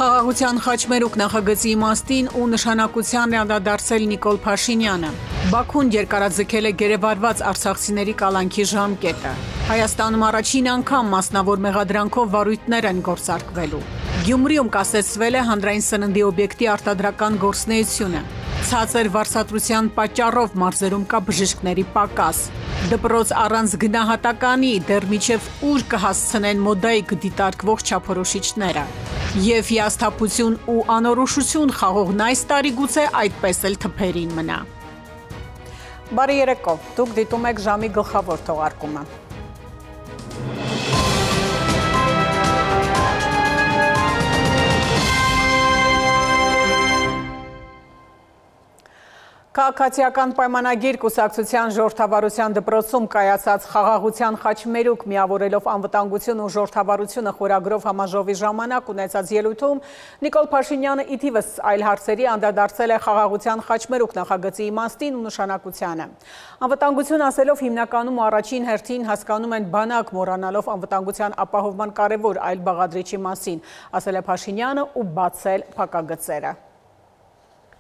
Խաղաղության խաչմերուկ նախագծի իմաստին ու նշանակությանն է անդրադարձել Նիկոլ Փաշինյանը։ Բաքուն երկարաձգել է գերեվարված արցախցիների կալանքի ժամկետը։ Հայաստանում առաջին անգամ մասնավոր մեղադրանքով վարույթներ են գործարկվելու։ Գյումրիում կասեցվել է հանրային սննդի օբյեկտի արտադրական գործունեությունը։ Ցածր վարսատրության պատճառով մարզերում կա բժիշկների պակաս։ Դպրոց առանց գնահատականի դեռ մինչև ուր կհասցնեն մոդայիկ դիտարկվող չափորոշիչները։ Եվ հիասթափություն ու անորոշություն խաղողն այս տարի գուցե այդպես էլ թփերին մնա։ Բարի երեկո, դուք դիտում եք ժամի գլխավոր թողարկումը։ Քաղաքացիական պայմանագիր կուսակցության ժողովրդավարության դպրոցում կայացած խաղաղության խաչմերուկ միավորելով անվտանգություն ու ժողովրդավարությունը խորագրով համաժողովի ժամանակ ունեցած ելույթում Նիկոլ Փաշինյանը ի թիվս այլ հարցերի անդրադարձել է խաղաղության խաչմերուկ նախագծի իմաստին ու նշանակությանը։ Անվտանգություն ասելով հիմնականում ու առաջին հերթին հասկանում են բանակ մոռանալով անվտանգության ապահովման կարևոր այլ բաղադրիչի մասին, ասել է Փաշինյանը ու բացել փակագծերը։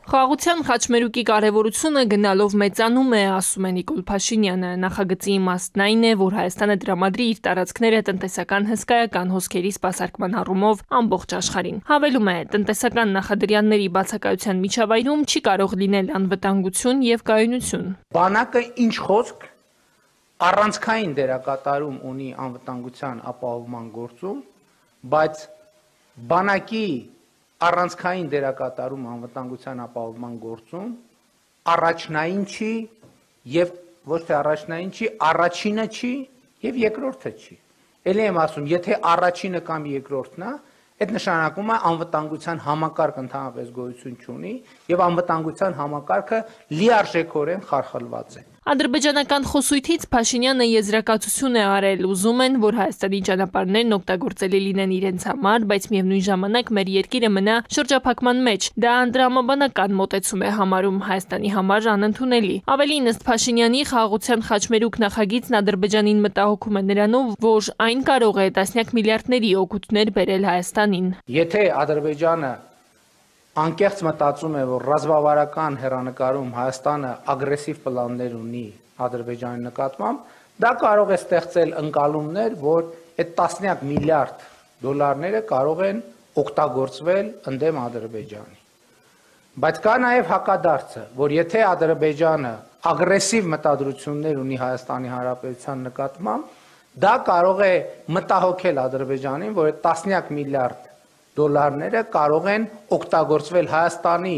Խաղաղության խաչմերուկի կարևորությունը գնալով մեծանում է, ասում է Նիկոլ Փաշինյանը։ Նախագծի իմաստն այն է, որ Հայաստանը տրամադրի իր տարածքները տնտեսական հսկայական հոսքերի սպասարկման առումով ամբողջ աշխարհին։ Հավելում է, տնտեսական նախադրյալների բացակայության միջավայրում չի կարող լինել անվտանգություն եւ կայունություն։ Բանակը ինչ խոսք առանցքային դերակատարում ունի անվտանգության ապահովման գործում, բայց բանակի առանցքային դերակատարում անվտանգության ապահովման գործում առաջնային չի եւ ոչ թե առաջնային չի, առաջինը չի եւ երկրորդը չի։ Էլի եմ ասում, եթե առաջինը կամ երկրորդն է, այդ նշանակում է անվտանգության համակարգ ընդհանրապես գոյություն չունի եւ անվտանգության համակարգը լիարժեքորեն խարխլված է։ Ադրբեջանական խոսույթից Փաշինյանը եզրակացություն է արել, ուզում են, որ Հայաստանի ճանապարհներն օգտագործելի լինեն իրենց համար, բայց միևնույն ժամանակ մեր երկիրը մնա շրջափակման մեջ։ Դա անդրամաբանական մոտեցում է համարում Հայաստանի համար անընդունելի։ Ավելին, ըստ Փաշինյանի, խաղաղության խաչմերուկ նախագիծն Ադրբեջանին մտահոգում է նրանով, որ այն կարող է տասնյակ միլիարդների օգուտներ բերել Հայաստանին։ Եթե Ադրբեջանը անկեղծ մտածում է, որ ռազմավարական հեռանկարում Հայաստանը ագրեսիվ պլաններ ունի Ադրբեջանի նկատմամբ, դա կարող է ստեղծել ընկալումներ, որ այդ տասնյակ միլիարդ դոլարները կարող են օգտագործվել ընդդեմ Ադրբեջանի։ Բայց կա նաև հակադարձը, որ եթե Ադրբեջանը ագրեսիվ մտադրություններ ունի Հայաստանի Հանրապետության նկատմամբ, դա կարող է մտահոգել Ադրբեջանին, որ այդ տասնյակ միլիարդ դոլարները կարող են օգտագործվել Հայաստանի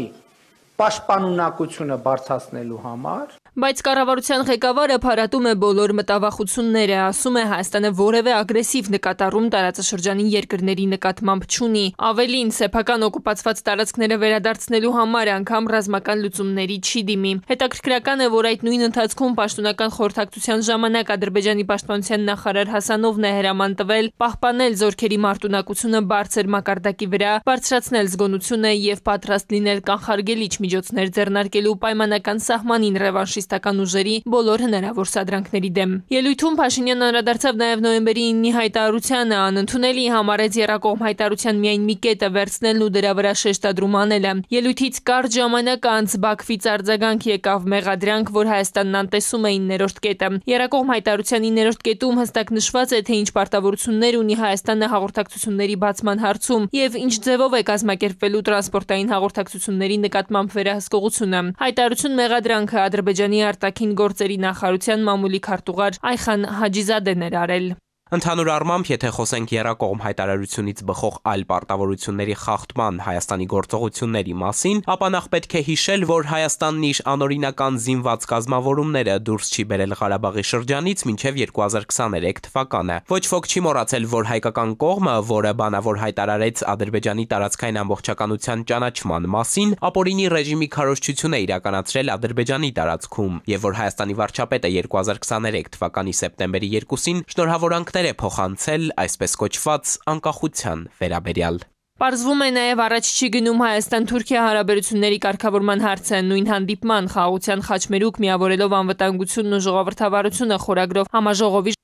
պաշտպանունակությունը բարձրացնելու համար։ Բայց կառավարության ղեկավարը փարատում է բոլոր մտավախությունները, ասում է Հայաստանը որևէ ագրեսիվ նկատառում տարածաշրջանի երկրների նկատմամբ չունի։ Ավելին, սեփական օկուպացված տարածքները վերադարձնելու համար անգամ ռազմական լուծումների չի դիմի։ Հետաքրքրական է, որ այդ նույն ընթացքում պաշտոնական խորհրդակցության ժամանակ Ադրբեջանի պաշտպանության նախարար Հասանովն է հրաման տվել պահպանել զորքերի մարտունակությունը բարձր մակարդակի վրա, բարձրացնել զգոնությունը եւ պատրաստ լինել կանխարգելիչ միջոցներ ձեռնարկելու պայմանական սահմանին ռևանշիստական ուժերի բոլոր հնարավոր սադրանքների դեմ։ Ելույթում Փաշինյանը անդրադարձավ նաև նոյեմբերի 9-ի հայտարարությանը, անընդունելի համարեց եռակողմ հայտարարության միայն մի կետը վերցնելն ու դրա վրա շեշտադրում անելը։ Ելույթից կարճ ժամանակ անց Բաքվից արձագանք եկավ մեղադրանք, որ Հայաստանն անտեսում է 9-րդ կետը։ Եռակողմ հայտարարության 9-րդ կետում հստակ նշված է, թե ինչ պարտավորություններ ունի Հայաստանը հաղորդակցությունների բացման հարցում եւ ինչ ձևով է կազմակերպվելու տրանսպորտային հաղորդակցությունների նկատմամբ վերահսկողությունը։ Հայտարարություն մեղադրանքը Ադրբեջանի արտաքին գործերի նախարարության մամուլի քարտուղար Այխան Հաջիզադեն էր արել։ Ընդհանուր առմամբ, եթե խոսենք եռակողմ հայտարարությունից բխող այլ պարտավորությունների խախտման Հայաստանի գործողությունների մասին, ապա նախ պետք է հիշել, որ Հայաստանն իր անօրինական զինված կազմավորումները դուրս չի բերել Ղարաբաղի շրջանից մինչև 2023 թվականը։ Ոչ ոք չի մոռացել, որ հայկական կողմը, որը բանավոր հայտարարեց Ադրբեջանի տարածքային ամբողջականության ճանաչման մասին, ապօրինի ռեժիմի քարոզչություն է իրականացրել Ադրբեջանի տարածքում, եւ որ Հայաստանի վարչապետը 2023 թվականի սեպտեմբերի 2-ին շնորհավորանքներ է փոխանցել այսպես կոչված անկախության վերաբերյալ։ Պարզվում է նաև առաջ չի գնում Հայաստան-Թուրքիա հարաբերությունների կարգավորման հարցը նույն հանդիպման խաղաղության խաչմերուկ միավորելով անվտանգությունն ու ժողովրդավարությունը խորագրով համաժողովի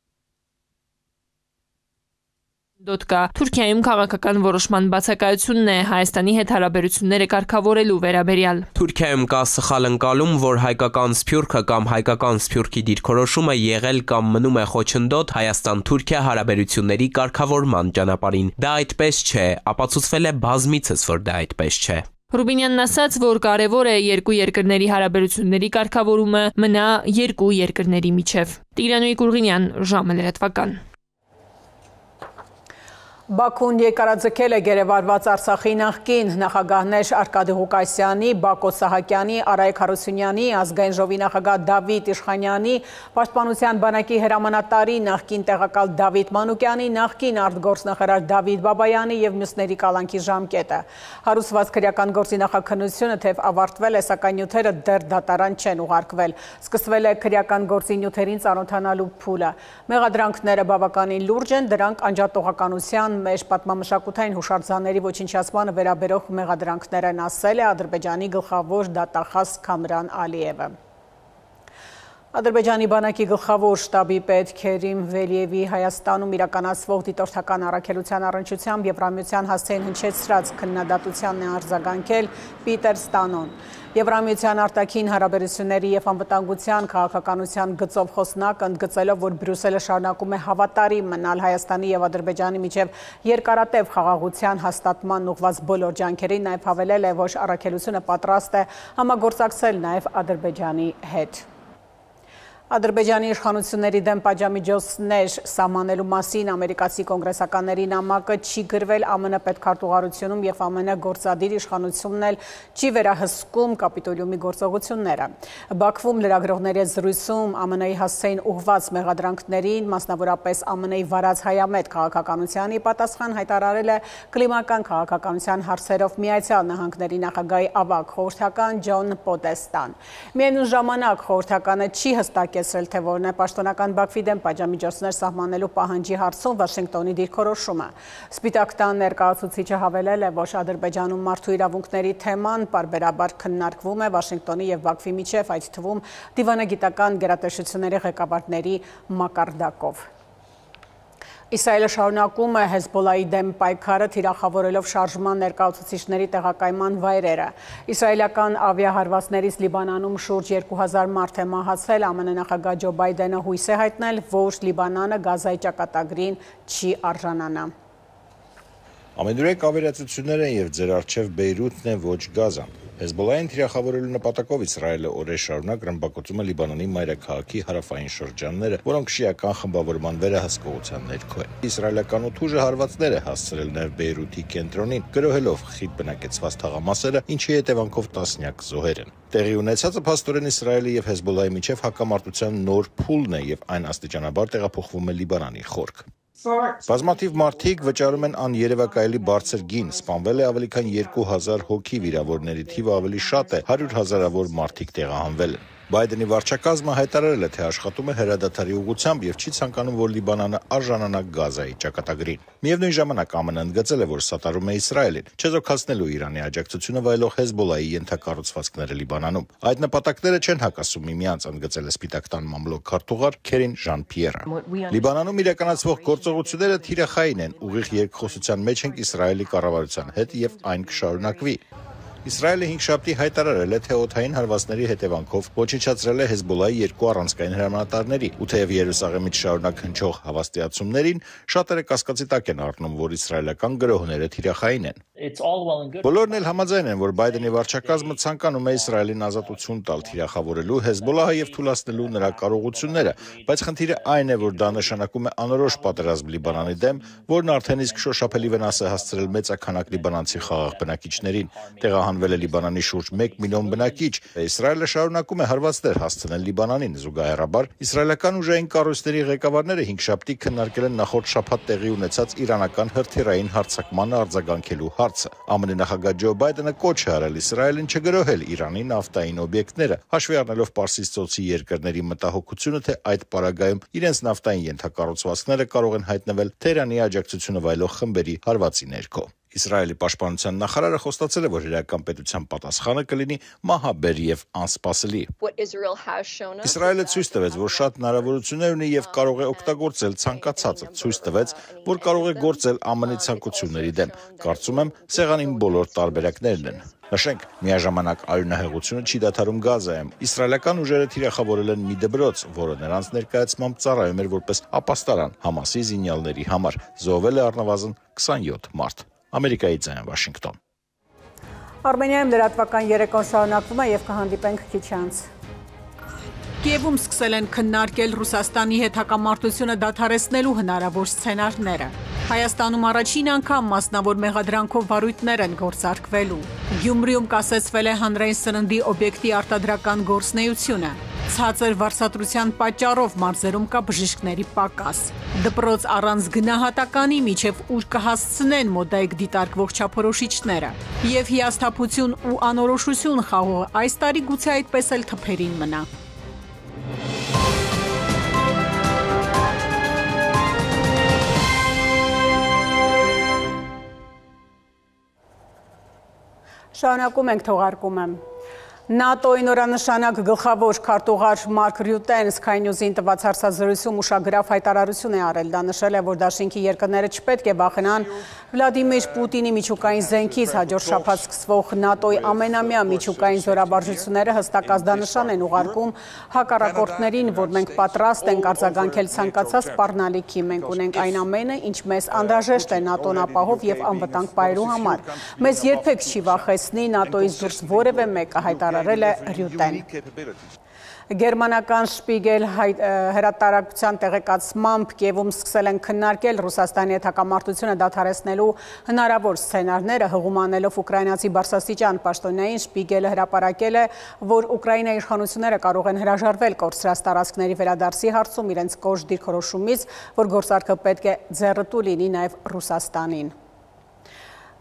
Դոտկա Թուրքիայում քաղաքական որոշման բացակայությունն է Հայաստանի հետ հարաբերությունները կարգավորելու վերաբերյալ։ Թուրքիայում կա սխալ ընկալում, որ հայկական սփյուռքը կամ հայկական սփյուռքի դիրքորոշումը եղել կամ մնում է խոչընդոտ Հայաստան-Թուրքիա հարաբերությունների կարգավորման ճանապարհին։ Դա այդպես չէ, ապացուցվել է բազմիցս, որ դա այդպես չէ։ Ռուբինյանն ասաց, որ կարևոր է երկու երկրների հարաբերությունների կարգավորումը մնա երկու երկրների միջև։ Տիգրան Կուրգինյան, ժամը լրատվական։ Բաքուն երկարաձգել է գերեվարված Արցախի նախկին նախագահներ Արկադի Ղուկասյանի, Բակո Սահակյանի, Արայք Հարությունյանի, Ազգային ժողովի նախագահ Դավիթ Իշխանյանի, Պաշտպանության բանակի հրամանատարի նախկին տեղակալ Դավիթ Մանուկյանի, նախկին արտգործնախարար Դավիթ Բաբայանի և մյուսների կալանքի ժամկետը։ Հարուսված քրեական գործի նախաքննությունը թեև ավարտվել է, սակայն նյութերը դեռ դատարան չեն ուղարկվել։ Սկսվել է քրեական գործի նյութերին ծանոթանալու փուլը։ Մեղադրանքները բավականին լուրջ են, դրանք անջատողականության մեր պատմամշակութային հուշարձանների ոչնչացմանը վերաբերող մեղադրանքներ են, ասել է Ադրբեջանի գլխավոր դատախազ Քամրան Ալիևը։ Ադրբեջանի բանակի գլխավոր շտաբի պետ Քերիմ Վելիևի Հայաստանում իրականացվող դիտորդական առաքելության առնչությամբ Եվրամիության հասցեին հնչեցրած քննադատությանն է արձագանքել Պիտեր Ստանոն։ Եվրամիության արտաքին հարաբերությունների և անվտանգության քաղաքականության գծով խոսնակը ընդգծելով, որ Բրյուսելը շարունակում է հավատարիմ մնալ Հայաստանի և Ադրբեջանի միջև երկարատև խաղաղության հաստատման ուղղված բոլոր ջանքերին, նաև հավելել է, որ առաքելությունը պատրաստ է համագործակցել նաև Ադրբեջանի հետ։ Ադրբեջանի իշխանությունների դեմ պատժամիջոցներ սահմանելու մասին ամերիկացի կոնգրեսականների նամակը չի գրվել ԱՄՆ պետքարտուղարությունում և ԱՄՆ գործադիր իշխանությունն էլ չի վերահսկում Կապիտոլիումի գործողությունները։ Բաքվում լրագրողների հետ զրույցում ԱՄՆ-ի հասցեին ուղղված մեղադրանքներին, մասնավորապես ԱՄՆ-ի վարած հայամետ քաղաքականությանի պատասխան հայտարարել է կլիմական քաղաքականության հարցերով Միացյալ Նահանգների նախագահի ավագ խորհրդական Ջոն Պոդեստան։ Միևնույն ժամանակ խորհրդականը չի հստակեցրել, թե որն է պաշտոնական Բաքվի դեմ պատժամիջոցներ սահմանելու պահանջի հարցում Վաշինգտոնի դիրքորոշումը։ Սպիտակ տան ներկայացուցիչը հավելել է, որ Ադրբեջանում մարդու իրավունքների թեման պարբերաբար քննարկվում է Վաշինգտոնի և Բաքվի միջև, այդ թվում դիվանագիտական գերատեսչությունների ղեկավարների մակարդակով։ Իսրայելը շարունակում է Հեզբոլայի դեմ պայքարը, թիրախավորելով շարժման ներկայացուցիչների տեղակայման վայրերը։ Իսրայելական ավիահարվածներից Լիբանանում շուրջ 2000 մարդ է մահացել, ԱՄՆ նախագահ Ջո Բայդենը հույս է հայտնել, որ Լիբանանը Գազայի ճակատագրին չի արժանանա։ Ամենուրեք ավերածություններ են և ձեր առջև Բեյրութն է, ոչ Գազան։ Հեզբոլային թիրախավորելու նպատակով Իսրայելը օրեր շարունակ ռմբակոծում է Լիբանանի մայրաքաղաքի հարավային շրջանները, որոնք շիական խմբավորման վերահսկողության ներքո են։ Իսրայելական օդուժը հարվածներ է հասցրել նաև Բեյրութի կենտրոնին, գրոհելով խիտ բնակեցված թաղամասերը, ինչի հետևանքով տասնյակ զոհեր են։ Տեղի ունեցածը փաստորեն Իսրայելի և Հեզբոլայի միջև հակամարտության նոր փուլն է և այն աստիճանաբար տեղափոխվում է Լիբանանի խորք։ Բազմաթիվ մարդիկ վճարում են աներևակայելի բարձր գին, սպանվել է ավելի քան 2000 հոգի, վիրավորների թիվը ավելի շատ է, 100 հազարավոր մարդիկ տեղահանվել են։ Բայդենի վարչակազմը հայտարարել է, թե աշխատում է հրադադարի ուղղությամբ և չի ցանկանում, որ Լիբանանը արժանանա Գազայի ճակատագրին։ Միևնույն ժամանակ ԱՄՆ-ն ընդգծել է, որ սատարում է Իսրայելին, չեզոքացնելու Իրանի աջակցությունը վայելող Հեզբոլայի ենթակառուցվածքները Լիբանանում։ Այդ նպատակները չեն հակասում միմյանց, ընդգծել է Սպիտակ տան մամլոք քարտուղար Քերին Ժան-Պիերը։ Լիբանանում իրականացվող գործողությունները թիրախային են, ուղիղ երկխոսության մեջ ենք Իսրայելի կառավարության հետ և այն կշարունակվի։ Իսրայելը հինգշաբթի հայտարարել է, թե օդային հարվածների հետևանքով ոչնչացրել է Հեզբոլայի երկու առանցքային հրամանատարների, ու թեև Երուսաղեմից շարունակ հնչող հավաստիացումներին, շատերը կասկածի տակ են առնում, որ իսրայելական գրոհները թիրախային են։ Բոլորն էլ համաձայն են, որ Բայդենի վարչակազմը ցանկանում է Իսրայելին ազատություն տալ, թիրախավորելու Հեզբոլահը և թուլացնելու նրա կարողությունները, բայց խնդիրը այն է, որ դա նշանակում է անորոշ պատերազմ Լիբանանի դեմ, որն արդեն իսկ շոշափելի վնաս է հասցրել մեծաքանակ լիբանանցի խաղաղ բնակիչներին։ Տեղահանվել է Լիբանանի շուրջ 1 միլիոն բնակիչ։ Իսրայելը շարունակում է հարվածներ հասցնել Լիբանանին, զուգահեռաբար իսրայելական ուժային կառույցների ղեկավարները հինգշաբթի քննարկել են նախորդ շաբաթ տեղի ունեցած իրանական հրթիռային հարձակմանը արձագանքելու հարցը։ ԱՄՆ նախագահ Ջո Բայդենը կոչ է արել Իսրայելին չգրոհել Իրանի նավթային օբյեկտները, հաշվի առնելով Պարսից ծոցի երկրների մտահոգությունը, թե այդ պարագայում իրենց նավթային ենթակառուցվածքները կարող են հայտնվել Թեհրանի աջակցությունը վայելող խմբերի հարվածի ներքո։ Իսրայելի պաշտպանության նախարարը խոստացել է, որ իրական պետության պատասխանը կլինի մահաբեր եւ անսպասելի։ Իսրայելը ցույց տվեց, որ շատ հնարավորություններ ունի եւ կարող է օգտագործել ցանկացածը, ցույց տվեց, որ կարող է գործել ԱՄՆ-ի ցանկությունների դեմ։ Կարծում եմ, սեղանին բոլոր տարբերակներն են։ Նշենք, միաժամանակ արյունահեղությունը չի դադարում Գազայում։ Իսրայելական ուժերը թիրախավորել են մի դպրոց, որը նրանց ներկայացմամբ ծառայում էր որպես ապաստարան Համասի զինյալների համար։ Զոհվել է առնվազն 27 մարդ։ Ամերիկայի ձայն Վաշինգտոն։ Արմենիայում լրատվական երեկոն շարունակվում է եւ կհանդիպենք քիչ անց։ Կիևում սկսել են քննարկել Ռուսաստանի հետ հակամարտությունը դադարեցնելու հնարավոր սցենարները։ Հայաստանում առաջին անգամ մասնավոր մեղադրանքով վարույթներ են գործարկվելու։ Գյումրիում կասեցվել է հանրային սննդի օբյեկտի արտադրական գործունեությունը։ Ցածր վարձատրության պատճառով մարզերում կա բժիշկների պակաս։ Դպրոց առանց գնահատականի միջև ուր կհասցնեն մոդայիկ դիտարկվող չափորոշիչները։ Եվ հիասթափություն ու անորոշություն խաղողը այս տարի գուցե այդպես էլ թփերին մնա։ Շարունակում ենք թողարկումը։ ՆԱՏՕ-ի նորանշանակ գլխավոր քարտուղար Մարկ Ռյուտեն Sky News-ին տված հարցազրույցում ուշագրավ հայտարարություն է արել։ Դա նշել է, որ դաշինքի երկրները չպետք է վախենան Վլադիմիր Պուտինի միջուկային զենքից։ Հաջորդ շաբաթ սկսվող ՆԱՏՕ-ի ամենամյա միջուկային զորաբարժությունները հստակ ազդանշան են ուղարկում հակառակորդներին, որ մենք պատրաստ ենք արձագանքել ցանկացած սպառնալիքի։ Մենք ունենք այն ամենը, ինչ մեզ անհրաժեշտ է ՆԱՏՕ-ն ապահով եւ անվտանգ պահելու համար։ Մեզ երբեք չի վախեցնի ՆԱՏՕ-ից դուրս որևէ մեկը, հայտարարել է Ռյուտեն։ Գերմանական Շպիգել հրատարակության տեղեկացմամբ Կիևում սկսել են քննարկել Ռուսաստանի հետ հակամարտությունը դադարեցնելու հնարավոր սցենարները, հղում անելով ուկրաինացի բարձրաստիճան պաշտոնյային Շպիգելը հրապարակել է, որ Ուկրաինայի իշխանությունները կարող են հրաժարվել կորցրած տարածքների վերադարձի հարցում իրենց կոշտ դիրքորոշումից, որ գործարքը պետք է ձեռնտու լինի նաև Ռուսաստանին։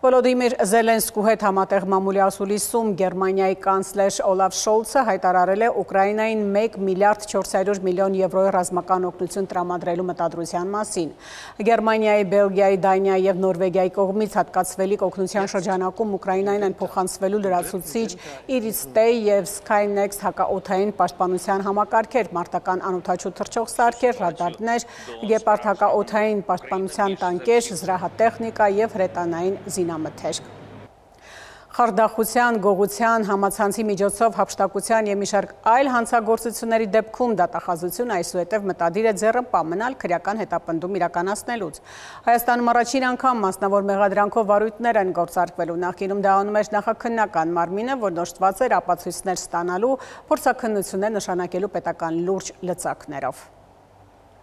Վոլոդիմիր Զելենսկու հետ համատեղ մամուլի ասուլիսում Գերմանիայի կանցլեր Օլաֆ Շոլցը հայտարարել է Ուկրաինային 1 միլիարդ 400 միլիոն եվրոյի ռազմական օգնություն տրամադրելու մտադրության մասին։ Գերմանիայի, Բելգիայի, Դանիայի եւ Նորվեգիայի կողմից հատկացվելիք օգնության շրջանակում Ուկրաինային են փոխանցվելու լրացուցիչ Իրիստեյ եւ Skynext հակաօդային պաշտպանության համակարգեր, մարտական անօդաչու թռչող սարքեր, ռադարներ, գեպարդ հակաօդային պաշտպանության տանկեր, զրահատեխնիկա եւ հրետանային զինամթերք։ Խարդախության, գողության, համացանցի միջոցով հափշտակության եւ մի շարք այլ հանցագործությունների դեպքում դատախազությունը այսուհետև մտադիր է ձեռնպահ մնալ քրեական հետապնդում իրականացնելուց։ Հայաստանում առաջին անգամ մասնավոր մեղադրանքով վարույթներ են գործարկվելու։ Նախկինում դա անում էր նախաքննական մարմինը, որ նշված էր ապացույցներ ստանալու, փորձաքննություններ նշանակելու պետական լուրջ լծակներով։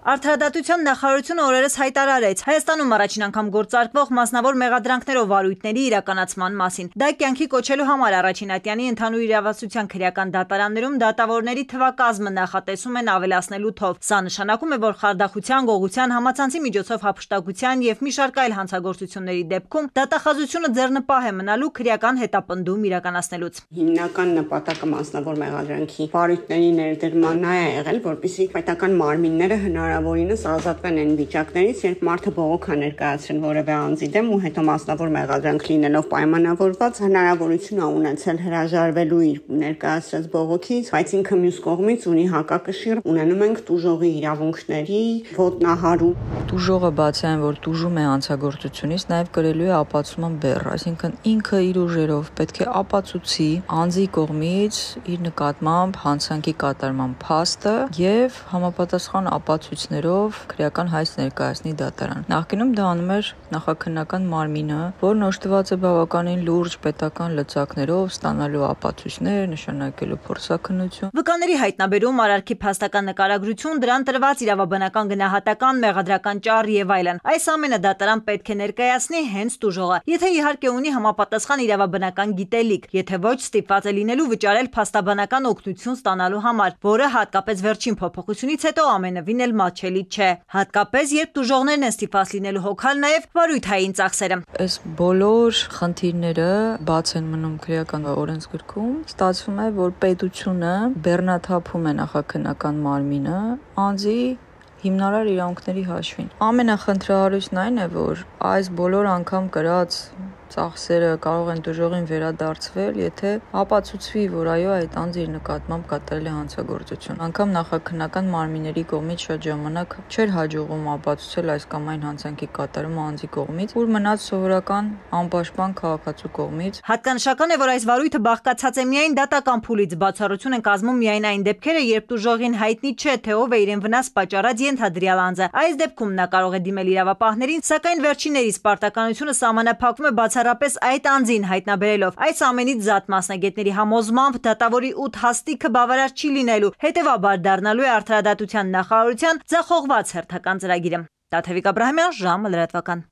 Արդարադատության նախարարությունը օրերս հայտարարեց Հայաստանում առաջին անգամ գործարկվող մասնավոր մեղադրանքներով վարույթների իրականացման մասին։ Դա կյանքի կոչելու համար առաջին ատյանի ընդհանուր իրավասության քրեական դատարաններում դատավորների թվակազմը նախատեսում են ավելացնելու թով։ Սա նշանակում է, որ խարդախության, գողության, համացանցի միջոցով հափշտակության եւ մի շարք այլ հանցագործությունների դեպքում դատախազությունը ձեռնպահ է մնալու քրեական հետապնդում իրականացնելուց։ Հիմնական նպատակը մասնավոր մեղադրանքի վարույթների ներդրմանն է եղել, որպեսզի պետական մարմինները հնարավորինս ազատվեն այն վիճակներից, երբ մարդը բողոք է ներկայացրել որևէ անձի դեմ ու հետո մասնավոր մեղադրանք լինելով պայմանավորված հնարավորություն է ունեցել հրաժարվելու իր ներկայացրած բողոքից, բայց ինքը մյուս կողմից ունի հակակշիռ, ունենում ենք տուժողի իրավունքների ոտնահարում։ Տուժողը բացի այն, որ տուժում է հանցագործությունից, նաև կրելու է ապացուցման բեռ, այսինքն ինքը իր ուժերով պետք է ապացուցի անձի կողմից իր նկատմամբ հանցանքի կատարման փաստը եւ համապատասխան ապացույցներով քրեական հայց ներկայացնի դատարան։ Նախկինում դա անում էր նախաքննական մարմինը, որն օժտված է բավականին լուրջ պետական լծակներով, ստանալու ապացույցներ, նշանակելու փորձաքննություն։ Վկաների հայտնաբերում, արարքի փաստական նկարագրություն, դրան տրված իրավաբանական գնահատական, մեղադրական ճառ եւ այլն։ Այս ամենը դատարան պետք է ներկայացնի հենց տուժողը, եթե իհարկե ունի համապատասխան իրավաբանական գիտելիք, եթե ոչ ստիպված է լինելու վճարել փաստաբանական օգնություն ստանալու համար, որը հատկապես վերջին փոփոխությունից հետո ամենևին էլ մատչելի չէ, հատկապես երբ տուժողներն են ստիպված լինելու հոգալ նաեւ վարույթային ծախսերը։ Այս բոլոր խնդիրները բաց են մնում քրեական օրենսգրքում։ Ստացվում է, որ պետությունը բեռնաթափում է նախաքննական մարմինը անձի հիմնարար իրավունքների հաշվին։ Ամենախնդրահարույցն այն է, որ այս բոլոր անգամ կրած ծախսերը կարող են դժողին վերադարձվել, եթե ապացուցվի, որ այո, այդ անձը իր նկատմամբ կատարել է հանցագործություն։ Անգամ նախաքննական մարմինների կողմից շատ ժամանակ չէր հաջողվում ապացուցել այս կամ այն հանցանքի կատարումը անձի կողմից, որ մնաց սովորական անպաշտպան քաղաքացու կողմից։ Հատկանշական է, որ այս վարույթը բաղկացած է միայն դատական փուլից, բացառություն են կազմում միայն այն դեպքերը, երբ դժողին հայտնի չէ, թե ով է իրեն վնաս պատճառած ենթադրյալ անձը։ Այս դեպքում նա կարող է դիմել իրավապահներին, սակայն վերջիններիս պարտականությունը սահմանափակվում է բացառապես այդ անձին հայտնաբերելով։ Այս ամենից զատ մասնագետների համոզմամբ դատավորի 8 հաստիքը բավարար չի լինելու, հետևաբար դառնալու է արդարադատության նախարարության ձախողված հերթական ծրագիրը։ Տաթևիկ Աբրահամյան, ժամը լրատվական։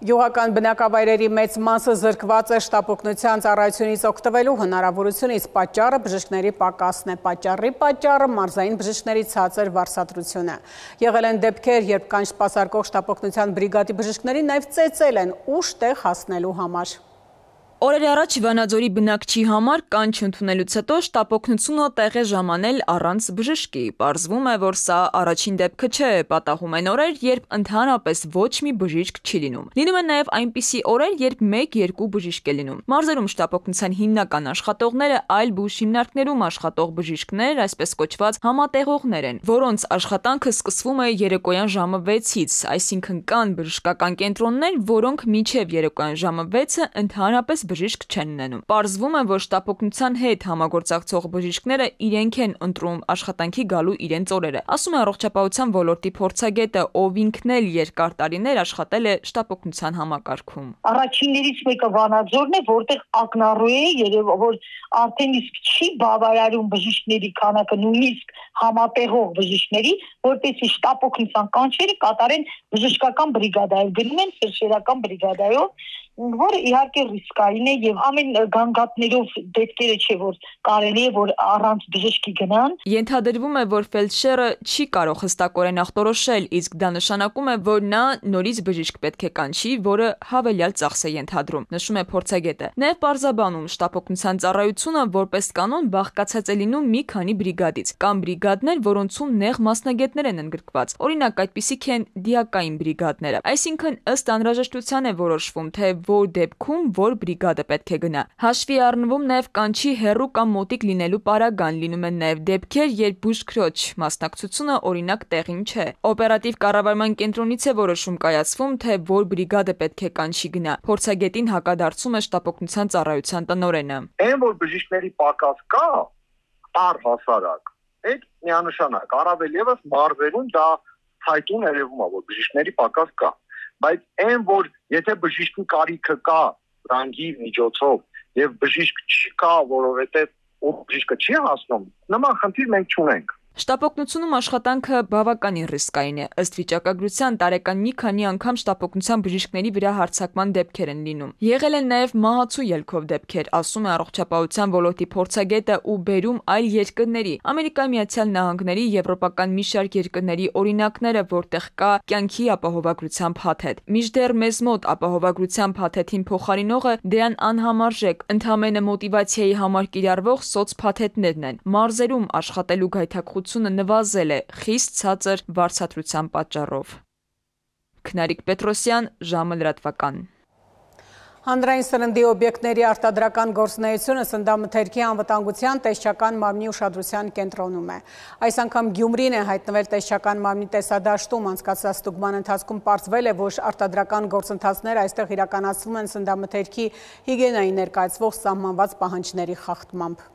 Գյուղական բնակավայրերի մեծ մասը զրկված է շտապօգնության ծառայությունից օգտվելու հնարավորությունից, պատճառը բժիշկների պակասն է, պատճառը մարզային բժիշկների ցածր վարձատրությունը։ Եղել են դեպքեր, երբ կան սպասարկող շտապօգնության բրիգադի բժիշկների նաև ծեծել են ուշ տեղ հասնելու համար։ Օրեր առաջ Վանաձորի բնակչի համար կանչ ընդունելուց հետո շտապօգնությունը տեղ է ժամանել առանց բժշկի։ Պարզվում է, որ սա առաջին դեպքը չէ, պատահում են օրեր, երբ ընդհանրապես ոչ մի բժիշկ չի լինում։ Լինում են նաև այնպիսի օրեր, երբ 1-2 բժիշկ է լինում։ Մարզերում շտապօգնության հիմնական աշխատողները այլ բուժ հիմնարկներում աշխատող բժիշկներ, այսպես կոչված համատեղողներ են, որոնց աշխատանքը սկսվում է երեկոյան ժամը 6-ից, այսինքն կան բժշկական կենտրոններ, որոնք մինչև երեկոյան ժամը 6-ը ընդհանրապես բժիշկ չեն ունենում։ Պարզվում է, որ շտապօգնության հետ համագործակցող բժիշկները իրենք են ընտրում աշխատանքի գալու իրենց օրերը, ասում է առողջապահության ոլորտի փորձագետը, ով ինքն էլ երկար տարիներ աշխատել է շտապօգնության համակարգում։ Առաջիններից մեկը Վանաձորն է, որտեղ ակնառու է երևի, որ արդեն իսկ չի բավարարում բժիշկների քանակը, նույնիսկ համատեղող բժիշկների, որպեսզի շտապօգնության կանչերը կատարեն բժշկական բրիգադայով, գնում են ֆելդշերական բրիգադայով, որը իհարկե ռիսկային է եւ ամեն գանգատներով դեպքերը չէ, որ կարելի է որ առանց բժշկի գնան։ Ենթադրվում է, որ ֆելդշերը չի կարող հստակորեն ախտորոշել, իսկ դա նշանակում է, որ նա նորից բժիշկ պետք է կանչի, որը հավելյալ ծախս է ենթադրում, նշում է փորձագետը։ Նաև պարզաբանում շտապօգնության ծառայությունը որպես կանոն բաղկացած է լինում մի քանի բրիգադից։ Կան բրիգադներ, որոնցում նեղ մասնագետներ են ընդգրկված։ Օրինակ, այդպիսիք են դիակային բրիգադները։ Այսինքն ըստ անհրաժեշտության է որոշվում, թե որ դեպքում որ բրիգադը պետք է գնա։ Հաշվի առնվում նաև կանչի հեռու կամ մոտիկ լինելու պարագան, լինում են նաև դեպքեր, երբ բուժքրոջ մասնակցությունը օրինակ տեղին չէ։ Օպերատիվ կառավարման կենտրոնից է որոշում կայացվում, թե որ բրիգադը պետք է կանչի գնա։ Փորձագետին հակադարձում է շտապօգնության ծառայության տնօրենը։ Այն որ բժիշկների պակաս կա, առհասարակ, այդ միանշանակ, առավել եւս մարզերում դա ցայտուն երևում է, որ բժիշկների պակաս կա, բայց այն որ եթե բժիշկի կարիքը կա ռանգի միջոցով եւ բժիշկ չկա, որովհետեւ բժիշկը չի հասնում, նման խնդիր մենք չունենք։ Շտապօգնությունում աշխատանքը բավականին ռիսկային է։ Ըստ վիճակագրության տարեկան մի քանի անգամ շտապօգնության բժիշկների վրա հարձակման դեպքեր են լինում։ Եղել են նաև մահացու ելքով դեպքեր, ասում է առողջապահության ոլորտի փորձագետը ու բերում այլ երկրների, Ամերիկայի Միացյալ Նահանգների, եվրոպական մի շարք երկրների օրինակները, որտեղ կա կյանքի ապահովագրության փաթեթ։ Մինչդեռ մեզ մոտ ապահովագրության փաթեթին փոխարինողը դրան անհամարժեք, ընդհանրապես մոտիվացիայի համար կիրառվող սոցփաթեթներն են։ Մարզերում աշխատելու գայթակղությունը նվազել է խիստ ցածր վարձատրության պատճառով։ Քնարիկ Պետրոսյան, ժամը լրատվական։ Հանրային սննդի օբյեկտների արտադրական գործունեությունը սննդամթերքի անվտանգության տեսչական մարմնի ուշադրության կենտրոնում է։ Այս անգամ Գյումրին է հայտնվել տեսչական մարմնի տեսադաշտում, անցկացած ստուգման ընթացքում պարզվել է, որ արտադրական գործընթացները այստեղ իրականացվում են սննդամթերքի հիգիենայի ներկայացվող սահմանված պահանջների խախտմամբ։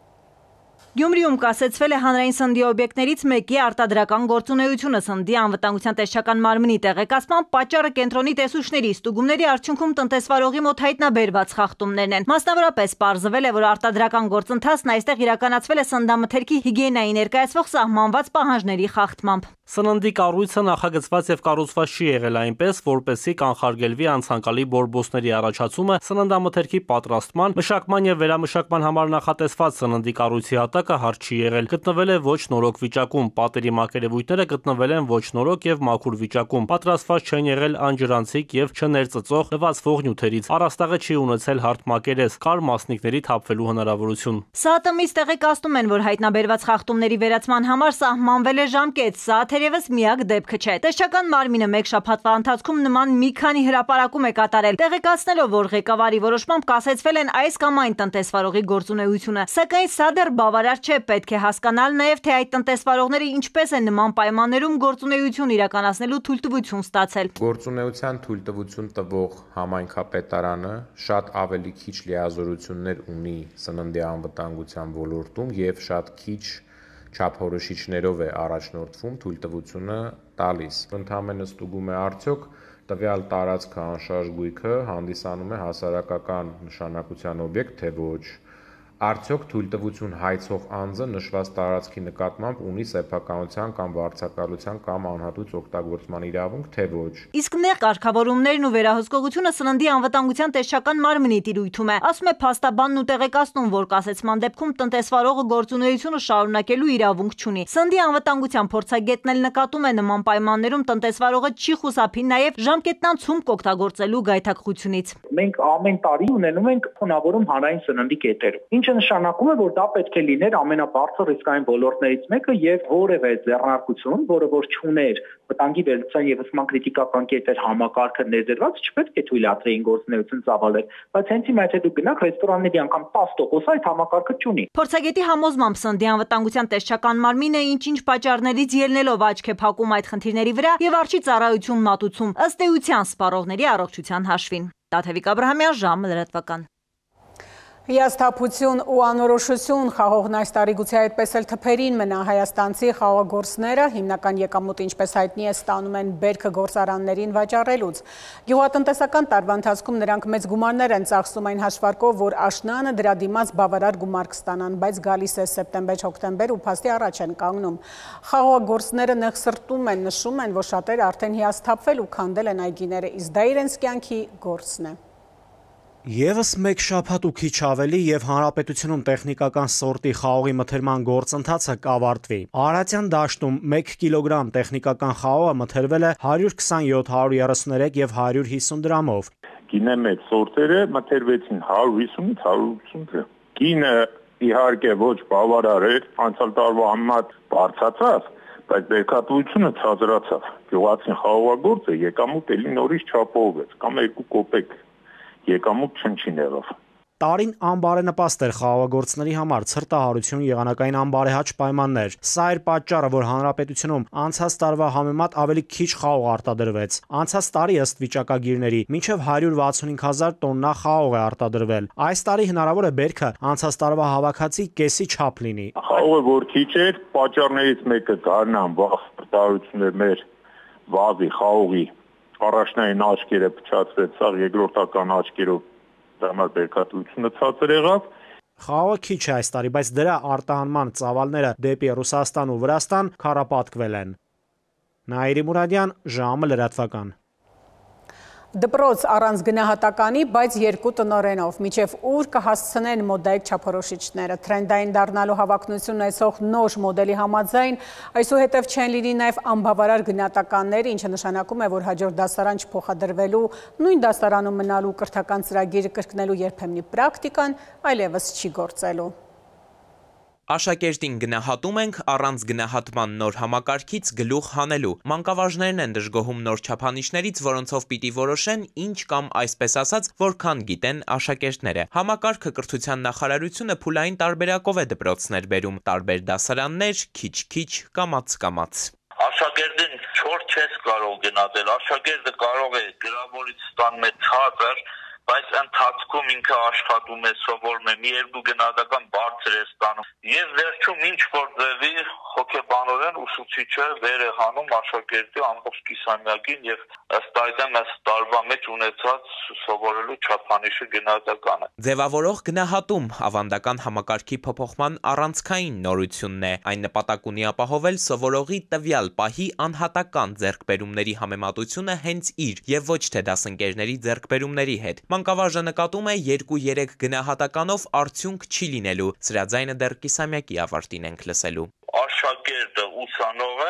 Գյումրիում կասեցվել է հանրային սննդի օբյեկտներից մեկի արտադրական գործունեությունը սննդի անվտանգության տեսչական մարմնի տեղեկացման պատճառը կենտրոնի տեսուչների ստուգումների արդյունքում տնտեսվարողի մոտ հայտնաբերված խախտումներն են։ Մասնավորապես պարզվել է, որ արտադրական գործընթացն այստեղ իրականացվել է սննդամթերքի հիգիենայի ներկայացվող սահմանված պահանջների խախտմամբ։ Սննդի կառույցը նախագծված եւ կառուցված չի եղել այնպես, որպեսզի կանխարգելվի անցանկալի բորբոսների առաջացումը սննդամթերքի պատրաստման, մշակման եւ վերամշակման համար նախատեսված սննդի կառույցի հատակը հարթ չի եղել։ Գտնվել է ոչ նորոք վիճակում, պատերի մակերևույթները գտնվել են ոչ նորոք եւ մաքուր վիճակում, պատրաստված չեն եղել անջրանցիկ եւ չներծծող լվացվող նյութերից։ Առաստաղը չի ունեցել հարթ մակերես, կար մասնիկների թափվելու հնարավորություն։ ՍԱՏՄ-ից տեղեկացնում են, որ հայտնաբերված խախտումների վերացման համար սահմանվել է ժամկետ, սա թե թերևս միակ դեպքը չէ։ Տեսչական մարմինը մեկ շաբաթվա ընթացքում նման մի քանի հրապարակում է կատարել, տեղեկացնելով, որ ղեկավարի որոշմամբ կասեցվել են այս կամ այն տնտեսվարողի գործունեությունը։ Սակայն սա դեռ բավարար չէ, պետք է հասկանալ նաև, թե այդ տնտեսվարողները ինչպես են նման պայմաններում գործունեություն իրականացնելու թույլտվություն ստացել։ Գործունեության թույլտվություն տվող համայնքապետարանը շատ ավելի քիչ լիազորություններ ունի սննդի անվտանգության ոլորտում եւ շատ քիչ չափորոշիչներով է առաջնորդվում թույլտվությունը տալիս։ Ընդհանրապես ստուգում է արդյոք տվյալ տարածքը անշարժ գույքը հանդիսանում է հասարակական նշանակության օբյեկտ, թե ոչ։ Արդյոք թույլտվություն հայցող անձը նշված տարածքի նկատմամբ ունի սեփականության կամ վարձակալության կամ անհատույց օգտագործման իրավունք, թե ոչ։ Իսկ նեղ կարգավորումներն ու վերահսկողությունը սննդի անվտանգության տեսչական մարմնի տիրույթում է, ասում է փաստաբանն ու տեղեկացնում, որ կասեցման դեպքում տնտեսվարողը գործունեությունը շարունակելու իրավունք չունի։ Սննդի անվտանգության փորձագետն էլ նկատում է նման պայմաններում տնտեսվարողը չի խուսափի նաև ժամկետնան ցումք օգտագործելու գայթակղությունից։ Մենք ամեն տարի ունենում ենք ֆոնավորում հանրային սննդի կետերում, ինչը նշանակում է, որ դա պետք է լիներ ամենաբարձր ռիսկային ոլորտներից մեկը եւ որևէ ձեռնարկություն, որը որ չուներ վտանգի վերլուծության եւ ուսման քրիտիկական կետեր համակարգը ներդրված, չպետք է թույլատրեին գործունեություն ծավալել, բայց հենց հիմա եթե դուք գնաք ռեստորանների անգամ 10% այդ համակարգը չունի։ Փորձագետի համոզմամբ սննդի անվտանգության տեսչական մարմինը ինչ-ինչ պատճառներից ելնելով աչք է փակում այդ խնդիրների վրա եւ արժի ծառայություն մատուցում ըստ էության սպառողների առողջության հաշվին։ Տաթևիկ Աբրահամյան, ժամը լրատվական։ Հիասթափություն ու անորոշություն խաղողն այս տարի գուցե այդպես էլ թփերին մնա հայաստանցի խաղողագործները հիմնական եկամուտ ինչպես հայտնի է ստանում են բերքը գործարաններին վաճառելուց։ Գյուղատնտեսական տարվա ընթացքում նրանք մեծ գումարներ են ծախսում այն հաշվարկով, որ աշնանը դրա դիմաց բավարար գումար կստանան, բայց գալիս է սեպտեմբեր-հոկտեմբեր ու փաստի առաջ են կանգնում։ Խաղողագործները նեղսրտում են, նշում են, որ շատերը արդեն հիասթափվել ու քանդել են այգիները, իսկ դա իրենց կյանքի գործն է։ Եվս մեկ շաբաթ ու քիչ ավելի եւ հանրապետությունում տեխնիկական սորտի խաղողի մթերման գործընթացը կավարտվի։ Արարատյան դաշտում 1 կիլոգրամ տեխնիկական խաղողը մթերվել է 127, 133 եւ 150 դրամով։ Գինե մեծ սորտերը մթերվեցին 150-ից 180 դրամ։ Գինը իհարկե ոչ բավարար էր, անցյալ տարվա համեմատ բարձրացավ, բայց բերքատվությունը ցածրացավ։ Գյուղացին խաղողագործը եկամուտ էլի նորից չապահովեց, կամ 2 կոպեկ եկամուտ չնչին եղավ։ Տարին անբարենպաստ էր խաղողագործների համար, ցրտահարություն, եղանակային անբարեհաճ պայմաններ։ Սա էր պատճառը, որ հանրապետությունում անցած տարվա համեմատ ավելի քիչ խաղող արտադրվեց։ Անցած տարի ըստ վիճակագիրների մինչև 165,000 տոննա խաղող է արտադրվել։ Այս տարի հնարավոր է բերքը անցած տարվա հավաքածի կեսի չափ լինի։ Խաղողը որ քիչ էր, պատճառներից մեկը գարնան վաղ արտադրություններ մեր վազի խաղողի առաջնային աչքերը փչացրեց, սա երկրորդական աչքերով դրամար բերքատվությունը ցածր եղավ։ Խաղողը քիչ է այս տարի, բայց դրա արտահանման ծավալները դեպի Ռուսաստան ու Վրաստան քառապատկվել են։ Նաիրի Մուրադյան, ժամը լրատվական։ Դպրոց առանց գնահատականի, բայց 2 տնօրենով, մինչև ուր կհասցնեն մոդայիկ չափորոշիչները, թրենդային դառնալու հավակնություն ունեցող նոր մոդելի համաձայն, այսուհետև չեն լինի նաև անբավարար գնահատականներ, ինչը նշանակում է, որ հաջորդ դասարան չփոխադրվելու, նույն դասարանում մնալու կրթական ծրագիրը կրկնելու երբեմնի պրակտիկան այլևս չի գործելու։ Աշակերտին գնահատում ենք առանց գնահատման նոր համակարգից գլուխ հանելու։ Մանկավարժներն են դժգոհում նոր չափանիշներից, որոնցով պիտի որոշեն ինչ կամ այսպես ասած, որքան գիտեն աշակերտները։ Համակարգը կրթության նախարարությունը փուլային տարբերակով է դպրոցներ բերում, տարբեր դասարաններ, քիչ-քիչ, կամաց-կամաց։ Աշակերտին 4 չես կարող գնահատել, աշակերտը կարող է գրավորից ստանալ ցածր, բայց ընթացքում ինքը աշխատում է, սովորում է, մի երկու գնահատական բարձր է ստանում։ Եվ վերջում ինչ որ ձևի հոգեբանորեն ուսուցիչը վեր է հանում աշակերտի ամբողջ կիսամյակին եւ ըստ այդմ ըստ տարվա մեջ ունեցած սովորելու չափանիշը գնահատականը։ Ձևավորող գնահատում ավանդական համակարգի փոփոխման առանցքային նորությունն է։ Այն նպատակ ունի ապահովել սովորողի տվյալ պահի անհատական ձեռքբերումների համեմատությունը հենց իր եւ ոչ թե դասընկերների ձեռքբերումների հետ։ Մանկավարժը նկատում է 2-3 գնահատականով արդյունք չի լինելու, սրա ձայնը դեռ կիսամյակի ավարտին ենք լսելու։ Աշակերտը, ուսանողը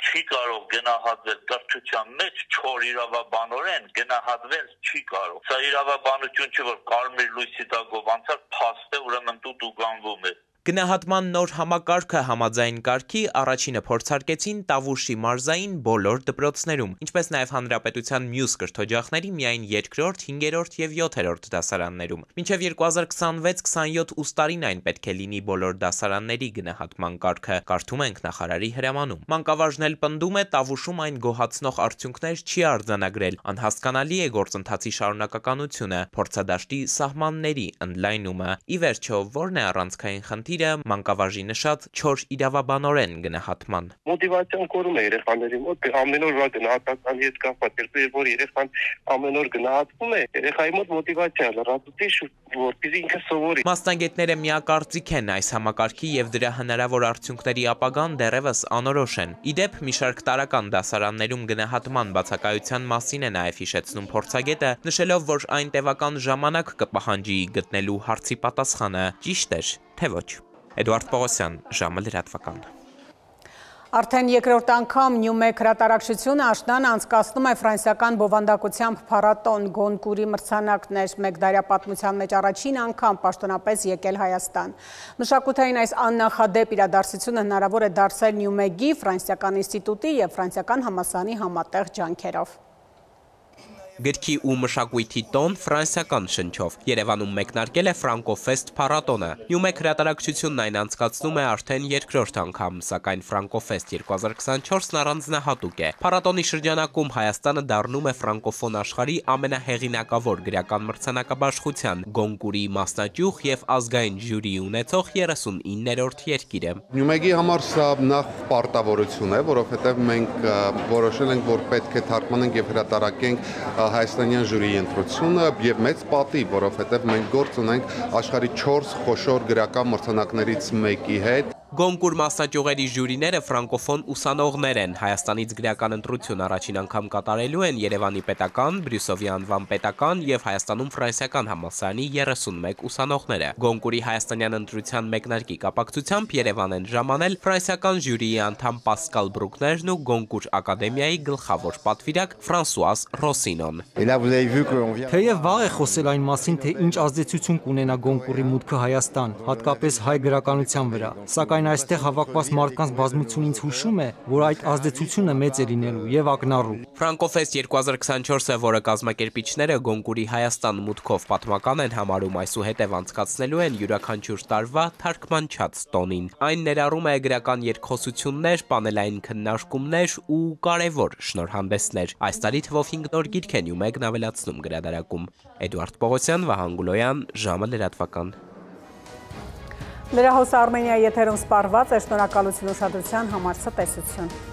չի կարող գնահատվել կրթության մեջ չոր իրավաբանորեն գնահատվել չի կարող։ Սա իրավաբանություն չէ, որ կարմիր լույսի տակով անցած փաստ է, ուրեմն դու գանվում է։ Գնահատման նոր համակարգը համաձայն կարգի առաջինը փորձարկեցին Տավուշի մարզային բոլոր դպրոցներում, ինչպես նաև հանրապետության մյուս կրթօջախների միայն 2-րդ, 5-րդ եւ 7-րդ դասարաններում։ Մինչև 2026-27 ուստարին այն պետք է լինի բոլոր դասարանների գնահատման կարգը, կարդում ենք նախարարի հրամանում։ Մանկավարժն էլ պնդում է Տավուշում այն գոհացնող արդյունքներ չի արձանագրել, անհասկանալի է գործընթացի շարունակականությունը, փորձադաշտի սահմանների ընդլայնումը։ Ի վերջո, ո՞րն է առանցքային խնդիրը մանկավարժի նշած 4 իրավաբանորեն գնահատման։ Մոտիվացիան կորում է երեխաների մոտ, ամեն օր գնահատականի հետ կապված, երբ որ երեխան ամեն օր գնահատվում է, երեխայի մոտ մոտիվացիա լրացուցի, որպեսզի ինքը սովորի։ Մասնագետները միակարծիք են այս համակարգի եւ դրա հնարավոր արդյունքների ապագան դեռևս անորոշ են։ Ի դեպ, մի շարք տարրական դասարաններում գնահատման բացակայության մասին է նաև հիշեցնում փորձագետը, նշելով, որ այն տևական ժամանակ կպահանջի գտնելու հարցի պատասխանը, ճիշտ էր, թե ոչ։ Էդուարդ Պողոսյան, ժամը լրատվական։ Արդեն երկրորդ անգամ Նյումեկ հրատարակչությունը աշնանը անցկացնում է ֆրանսիական բովանդակությամբ փառատոն Գոնկուրի մրցանակներ, մեկ դարյա պատմության մեջ առաջին անգամ պաշտոնապես եկել Հայաստան։ Մշակութային այս աննախադեպ իրադարձությունը հնարավոր է դարձել Նյումեգի, Ֆրանսիական ինստիտուտի եւ Ֆրանսիական համալսարանի համատեղ ջանքերով։ Գրքի ու մշակույթի տոն ֆրանսիական շնչով Երևանում մեկնարկել է Ֆրանկոֆեստ փառատոնը։ Նյումեկ հրատարակչությունն այն անցկացնում է արդեն երկրորդ անգամ, սակայն Ֆրանկոֆեստ 2024-ն առանձնահատուկ է։ Փառատոնի շրջանակում Հայաստանը դառնում է ֆրանկոֆոն աշխարհի ամենահեղինակավոր գրական մրցանակաբաշխության Գոնկուրի մասնաճյուղ եւ ազգային ժյուրի ունեցող 39-րդ երկիրը։ Նյումեգի համար սա նախ պարտավորություն է, որովհետեւ մենք որոշել ենք, որ պետք է թարգմանենք եւ հրատարակենք հայաստանյան ժյուրիի ընտրությունը եւ մեծ պատիվ, որովհետեւ մենք գործ ունենք աշխարհի 4 խոշոր գրական մրցանակներից մեկի հետ։ Գոնկուր մասնաճյուղերի ժյուրիները ֆրանկոֆոն ուսանողներ են։ Հայաստանից գրական ընտրություն առաջին անգամ կատարելու են Երևանի պետական, Բրյուսովի անվան պետական եւ Հայաստանում ֆրանսիական համալսարանի 31 ուսանողները։ Գոնկուրի հայաստանյան ընտրության մեկնարկի կապակցությամբ Երևան են ժամանել ֆրանսիական ժյուրիի անդամ Պասկալ Բրուկներն ու Գոնկուր ակադեմիայի գլխավոր պատվիրակ Ֆրանսուազ Ռոսինոն։ Թեև վաղ է խոսել այն մասին, թե ինչ ազդեցություն կունենա Գոնկուրի մուտքը Հայաստան, հատկապես հայ գրականության վրա, սակայն այստեղ հավաքված մարդկանց բազմությունն ինձ հուշում է, որ այդ ազդեցությունը մեծ է լինելու եւ ակնառու։ Ֆրանկոֆեստ 2024-ը, որը կազմակերպիչները Գոնկուրի Հայաստան մուտքով պատմական են համարում, այսուհետև անցկացնելու են յուրաքանչյուր տարվա թարգմանչած տոնին։ Այն ներառում է գրական երկխոսություններ, պանելային քննարկումներ ու կարևոր շնորհանդեսներ։ Այս տարի թվով 5 նոր գիրք են Նյումեգն ավելացնում գրադարակում։ Էդուարդ Պողոսյան, Վահան Գուլոյան, ժամը լրատվական։ Լրահոսը Արմենիայի եթերում սպառված է, շնորհակալություն ուշադրության համար, ցտեսություն։